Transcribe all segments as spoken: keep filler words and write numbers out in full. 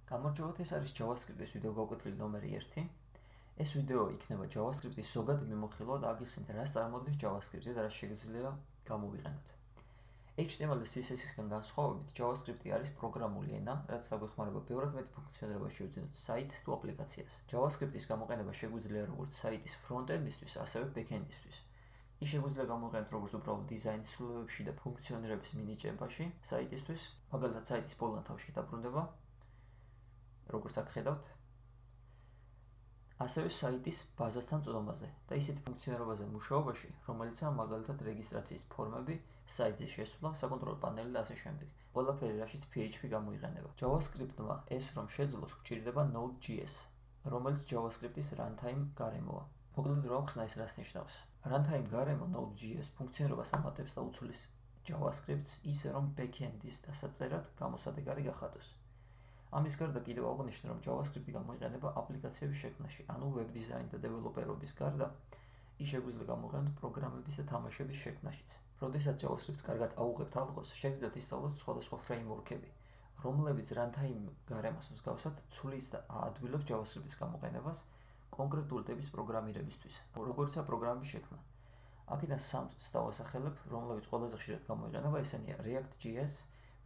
გამარჯობათ, ეს არის JavaScript-ის ვიდეო გაკვეთილი ნომერი ერთი. ეს ვიდეო იქნება JavaScript-ის ზოგადი მიმოხილვა და აგიხსნით რას წარმოადგენს JavaScript-ი და რა შეგვიძლია გამოვიყენოთ. H T M L და C S S-ისგან განსხვავებით, JavaScript-ი არის პროგრამული ენა, რაც დაგვეხმარება ბევრად მეტი ფუნქციონირება შევძინოთ საიტს თუ აპლიკაციას. JavaScript-ის გამოყენება შეგვიძლია როგორც საიტის front-end-ისთვის, ასევე back-end-ისთვის. ის შეგვიძლია გამოვიყენოთ როგორც უბრალოდ დიზაინის ცვლილებებში და ფუნქციონირების მინიჭებაში საიტისთვის, მაგალითად საიტის ბოლო თავში დაბრუნდება, როგორც აქ ხედავთ, ასევე საიტის ბაზასთან წვდომაზე და ისეთ ფუნქციონირებაზე მუშაობაში, რომელიცაა მაგალითად რეგისტრაციის ფორმები, საიტზე შესვლა, საკონტროლო პანელი და ასე შემდეგ. ყველაფერი რაშიც P H P გამოიყენება. JavaScript-მა ეს რომ შეძლოს, გვჭირდება Node.js, რომელიც JavaScript-ის runtime გარემოა. მოკლედ რა ვხსნა ეს რას ნიშნავს? Runtime გარემო Node.js ფუნქციონირებას ამატებს და უცვლის JavaScript-ს ისე რომ back-end-ის დასაწერად გამოსადეგარი გახადოს. ამის გარდა კიდევ აღნიშნე, რომ JavaScript-ი გამოიყენება აპლიკაციების შექმნაში, ანუ web design და developer-ობის გარდა, ის შეგვიძლია გამოვიყენოთ პროგრამების და თამაშების შექმნაშიც. როდესაც JavaScript-ს კარგად აუღებთ ალღოს, შეგიძლიათ ისწავლოთ სხვადასხვა framework-ები, რომლებიც runtime გარემოს მსგავსად ცვლის და აადვილებს JavaScript-ის გამოყენებას კონკრეტული ტიპის პროგრამირებისთვის, როგორიცაა პროგრამების შექმნა. აქედან სამს დავასახელებ, რომლებიც ყველაზე ხშირად გამოიყენება, ესენია React.js,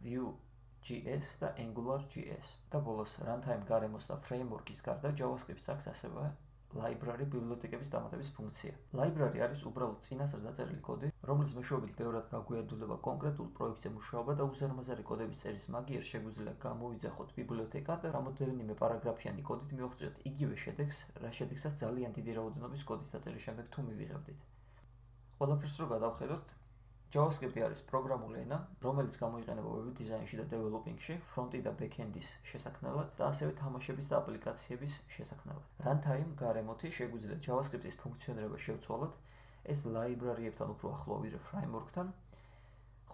Vue.js და Angular.js. და ბოლოს runtime გარემოს და framework-ის გარდა JavaScript-ს აქვს ასევე library ბიბლიოთეკების დამატების ფუნქცია. Library არის უბრალოდ წინასწარ დაწერილი კოდი, რომლის მეშვეობით ბევრად გაგვიადვილება კონკრეტულ პროექტზე მუშაობა და უზარმაზარი კოდების წერის მაგიერ შეგვიძლია გამოვიძახოთ ბიბლიოთეკა და რამოდენიმე პარაგრაფიანი კოდით მივაღწიოთ იგივე შედეგს, რა შედეგსაც ძალიან დიდი რაოდენობის კოდის დაწერის შემდეგ თუ მივიღებდით. ყველაფერს რო გადავხედოთ, JavaScript-ი არის პროგრამული ენა, რომელიც გამოიყენება web design-ში და developing-ში, front-ი და back-end-ის შესაქმნელად და ასევე თამაშების და აპლიკაციების შესაქმნელად. Runtime გარემოთი შეგვიძლია JavaScript-ის ფუნქციონირება შევცვალოთ, ეს library-ებთან უფრო ახლოა ვიდრე framework-თან,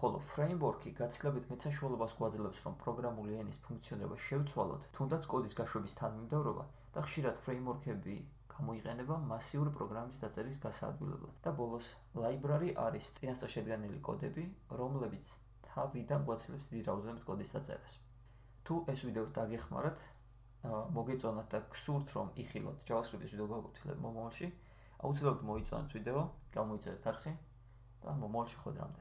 ხოლო framework-ი გაცილებით მეტ საშუალებას გვაძლევს, რომ პროგრამული ენის ფუნქციონირება შევცვალოთ, თუნდაც კოდის გაშვების თანმიმდევრობა და ხშირად framework-ები გამოიყენება მასიური პროგრამის დაწერის გასაადვილებლად. და ბოლოს, library არის წინასწარ შედგენილი კოდები, რომლებიც თავიდან გვაცილებს დიდი რაოდენობით კოდის დაწერას. თუ ეს ვიდეო დაგეხმარათ, მოგეწონათ და გსურთ რომ იხილოთ JavaScript-ის ვიდეო გაკვეთილები მომავალში, აუცილებლად მოიწონეთ ვიდეო, გამოიწერეთ არხი და მომავალში ხვდრამდე.